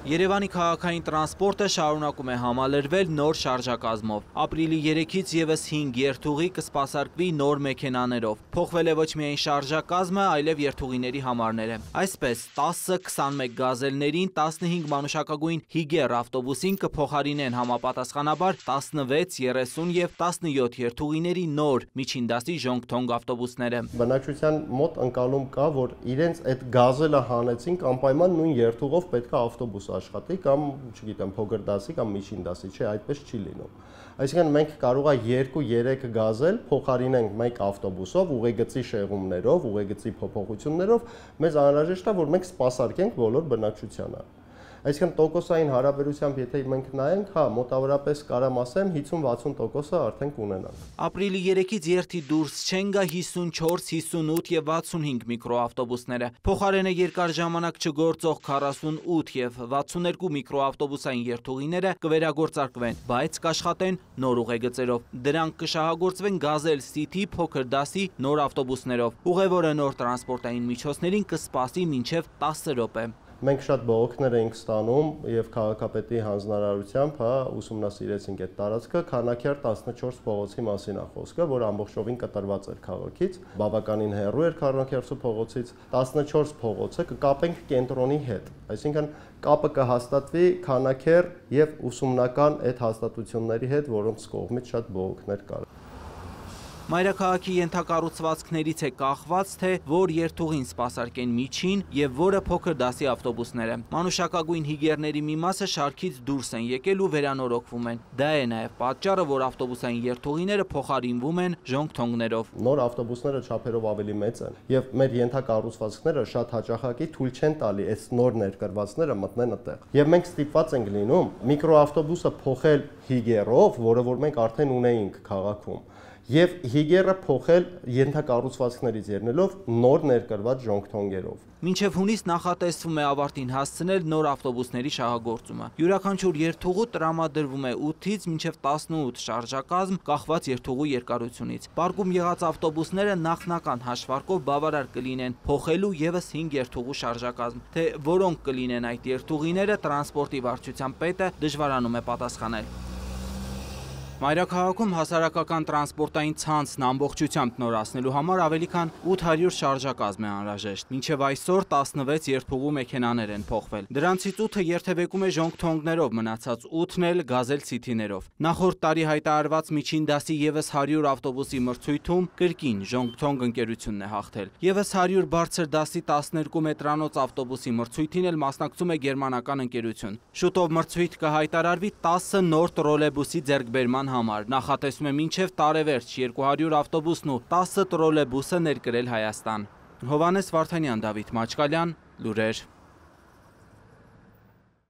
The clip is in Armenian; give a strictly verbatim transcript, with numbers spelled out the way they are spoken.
Երևանի քաղաքային տրանսպորտը շարունակում է համալրվել նոր շարժակազմով։ Ապրիլի երեքից ևս հինգ երթուղի կսպասարկվի նոր մեքենաներով։ Փոխվել է ոչ միայն շարժակազմը, այլև երթուղիների համարները։ Այսպես, տասը քսանմեկ գազելներին, տասնհինգ մանուշակագույն Հիգեր ավտոբուսին կփոխարինեն համապատասխանաբար տասնվեց, երեսուն և տասնյոթ երթուղիների նոր միջին դասի ժոնգ-թոնգ ավտոբուսները։ Բնակչության մոտ ընկալում կա, որ իրենց այդ գազելը հանեցին անպայման նույն երթուղով պետք է ավտոբուս աշխատի կամ, չգիտեմ, փոքր դասի կամ միջին դասի, չէ, այդպես չի լինում։ Այսինքն մենք կարող է երկու երեք գազել փոխարինենք մեկ ավտոբուսով, ուղեգծի շեղումներով, ուղեգծի փոփոխություններով, մեզ անհրաժեշտ է, որ մենք սպասարկենք բոլոր բնակչությանը։ Այսինքն տոկոսային հարաբերությամբ, եթե մենք նայենք, հա, մոտավորապես կարամ ասեմ հիսուն-վաթսուն տոկոսը արդեն կունենանք։ Ապրիլի երեքից երթի դուրս չեն գա հիսունչորս, հիսունութ և վաթսունհինգ միկրոավտոբուսները։ Փոխարենը երկար ժամանակ չգործող քառասունութ և վաթսուներկու միկրոավտոբուսային երթուղիները կվերագործարկվեն, բայց կաշխատեն նոր ուղեգծերով։ Դրանք կշահագործվեն գազել City փոքր դասի նոր ավտոբուսներով։ Ուղևորը նոր տրանսպորտային միջոցներին կսպասի մինչև տասը րոպե։ Մենք շատ բողոքներ էինք ստանում և քաղաքապետի հանձնարարությամբ, հա, ուսումնասիրեցինք այդ տարածքը, Քանաքեռ տասնչորս փողոցի մասին է խոսքը, որ ամբողջովին կտրված էր քաղաքից, բավականին հեռու էր Քառանքերթու փողոցից, տասնչորս փողոցը կկապենք կենտրոնի հետ, այսինքն կապը կհաստատվի Քանաքեռ և ուսումնական այդ հաստատությունների հետ, որոնց կողմից շատ բողոքներ կար։ Մայրաքաղաքի ենթակառուցվածքներից է կախված, թե որ երթուղին սպասարկեն միջին և որը փոքր դասի ավտոբուսները։ Մանուշակագույն հիգերների մի մասը շարքից դուրս են եկել ու վերանորոգվում են։ Դա է նաև պատճառը, որ ավտոբուսային երթուղիները փոխարինվում են ժոնգ-թոնգներով։ Նոր ավտոբուսները չափերով ավելի մեծ են և մեր ենթակառուցվածքները շատ հաճախակի թույլ չեն տալի այս նոր ներկրվածները մտնեն այդտեղ։ Եվ մենք ստիպված ենք լինում միկրոավտոբուսը փոխել հիգերով, որը որ մենք արդեն ունեինք քաղաքում, և հիգերը փոխել ենթակառուցվածքներից ելնելով նոր ներկրված ժոնգ-թոնգերով։ Մինչև հունիս նախատեսվում է ավարտին հասցնել նոր ավտոբուսների շահագործումը։ Յուրաքանչյուր երթուղու տրամադրվում է ութից մինչև տասնութ շարժակազմ, կախված երթուղու երկարությունից։ Պարկում եղած ավտոբուսները նախնական հաշվարկով բավարար կլինեն փոխելու ևս հինգ երթուղու շարժակազմ, թե որոնք կլինեն այդ երթուղիները, տրանսպորտի վարչության պետը դժվարանում է պատասխանել։ Մայրաքաղաքում հասարակական տրանսպորտային ցանցն ամբողջությամբ նորացնելու համար ավելի քան ութ հարյուր շարժակազմ է անհրաժեշտ։ Մինչև այսօր տասնվեց երթուղու մեքենաներ են փոխվել։ Դրանցից ութը երթևեկում է ժոնգ-թոնգներով, մնացած ութն էլ գազել City-ներով։ Նախորդ տարի հայտարարված միջին դասի ևս հարյուր ավտոբուսի մրցույթում կրկին ժոնգ-թոնգ ընկերությունն է հաղթել։ ԵՒս հարյուր բարձր դասի տասներկու մետրանոց ավտոբուսի մրցույթին էլ մասնակցում է գերմանական ընկերություն։ Շուտով մրցույթ կհայտարարվի տասը նոր տրոլեյբուսի ձեռքբերման համար։ Նախատեսվում է մինչև տարեվերջ երկու հարյուր ավտոբուսն ու տասը տրոլեյբուսը ներկրել Հայաստան։ Հովհաննես Վարդանյան, Դավիթ Մաչկալյան, լուրեր։